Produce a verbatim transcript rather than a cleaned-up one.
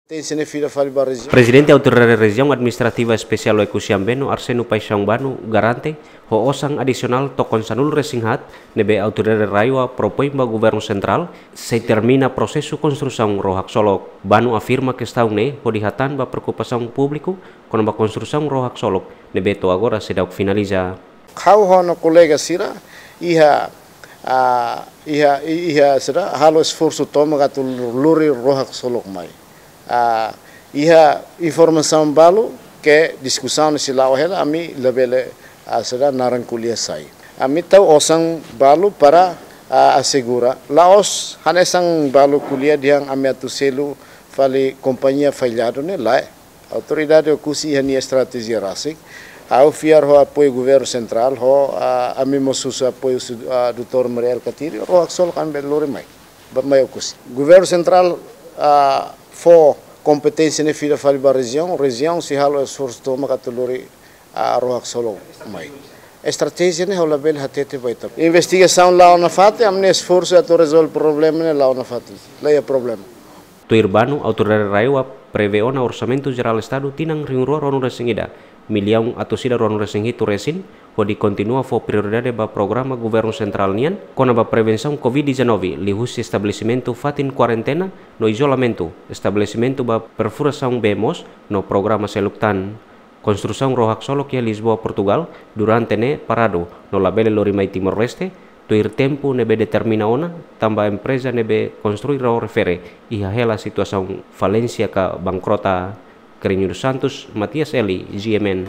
Prezidente Autoridade Rejiaun Administrativa Espesiál Oekusi Ambeno, Arsênio Paixão Bano, garante ho osan adisionál tokon sanulu-resin-haat ne'ebé Autoridade RAEOA propoin ba Governu Sentrál, sei termina prosesu konstrusaun ró haksolok. Bano afirma kestaun ne'e hodi hatán ba preokupasaun públiku kona-ba konstrusaun ró haksolok ne'ebé to'o agora seidauk finaliza. Ha'u ho ha'u-nia kolega sira iha, ah, iha, iha sira halo esforsu tomak atu lori ró haksolok mai. Ah, iha informasaun balu ke diskusaun sei la'o hela, ami labele, ah, sira naran ko'alia sai. Ami tau osan balu para, ah, asegura. La'ós hanesan balu ko'alia dehan ami atu selu fali kompañia falladu ne'e, lae. Autoridade Oekusi iha nia estratéjia rasik. Ha'u fiar ho apoiu Governu Sentrál, ho, ah, ami mós husu apoiu su-, ah, doutór Mari Alkatiri, ró haksolok ami bele lori mai. Ba mai Oekusi. Governu Sentrál, ah, fó kompeténsia ne'e fila fali ba rejiaun, rejiaun sei halo esforsu tomak atu lori, ah, ró haksolok mai. Estratéjia ne'e ha'u labele hatete ba ita. Investigasaun la'o nafatin, ami-nia esforsu atu rezolve problema ne'e la'o nafatin. La iha problema. Tuir Bano, Autoridade RAEOA prevee ona Orsamentu Jerál Estadu tinan rihun rua ruanulu-resin-ida, millaun atus ida ruanulu-resin-hitu resin, hodi kontinua fó prioridade ba programa Governu Sentrál nian kona-ba prevensaun covid dezanove, liuhusi estabelesimentu fatin kuarentena no izolamentu, estabelesimentu ba perfurasaun bee moos no programa seluk tan. Konstrusaun ró haksolok iha Lisboa, Portugal, durante ne'e paradu no labele lori mai Timor-Leste, tuir tempu ne'ebé determina ona, tanba empreza ne'ebé konstrui ró refere iha hela situasaun falénsia ka bankrota. Carlinhos dos Santos, Matias Eli, G M N.